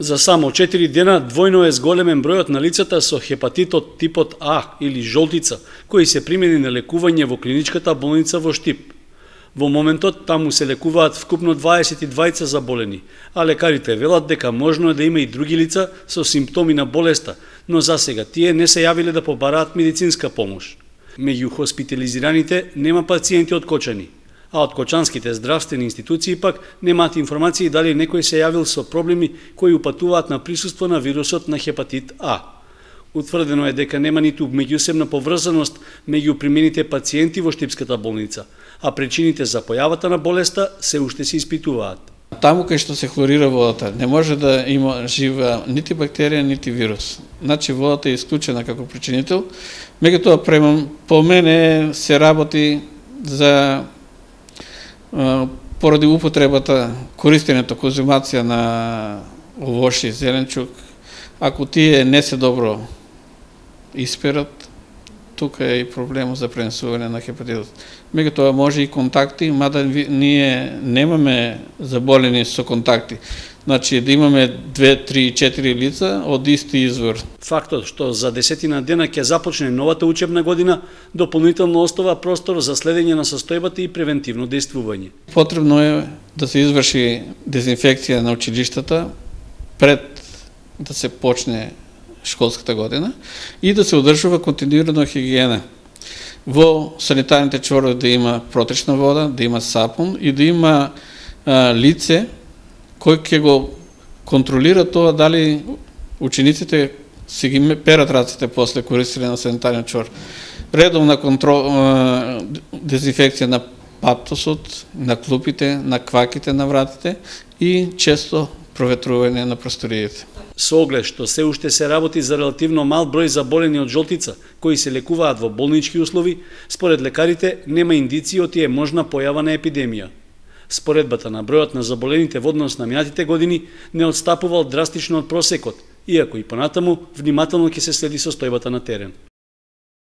За само 4 дена двојно е зголемен бројот на лицата со хепатитот типот А или жолтица, кои се примени на лекување во клиничката болница во Штип. Во моментот таму се лекуваат вкупно 22 заболени, а лекарите велат дека можно е да има и други лица со симптоми на болеста, но засега тие не се јавиле да побараат медицинска помош. Меѓу хоспитализираните нема пациенти од Кочани, а од кочанските здравствени институции пак немаат информации дали некој се јавил со проблеми кои упатуваат на присуство на вирусот на хепатит А. Утврдено е дека нема ниту меѓусебна поврзаност меѓу примените пациенти во Штипската болница, а причините за појавата на болеста се уште се испитуваат. Таму кај што се хлорира водата, не може да има жива нити бактерија, нити вирус. Значи водата е исклучена како причинител. Меѓутоа по мене се работи за поради употребата, користењето, конзумација на овошје, зеленчук, ако тие не се добро исперат, тука е и проблем за пренесување на хепатитот. Меѓутоа може и контакти, мада ние немаме заболени со контакти. Значи да имаме 2, 3, 4 лица од исти извор. Фактот што за 10 дена ќе започне новата учебна година дополнително остава простор за следење на состојбата и превентивно дејствување. Потребно е да се изврши дезинфекција на училиштата пред да се почне школската година и да се одржува континуирано хигиена. Во санитарните чворови да има протечна вода, да има сапун и да има лице кој ќе го контролира тоа дали учениците си ги перат раците после користење на санитарен чвор. Редовна дезинфекција на паптосот, на клупите, на кваките на вратите и често проветрување на просториите. Со оглед што се уште се работи за релативно мал број заболени од жолтица, кои се лекуваат во болнички услови, според лекарите нема индиции од тие можна појава на епидемија. Споредбата на бројот на заболените во однос на минатите години не отстапувал драстично од просекот, иако и понатаму внимателно ќе се следи состојбата на терен.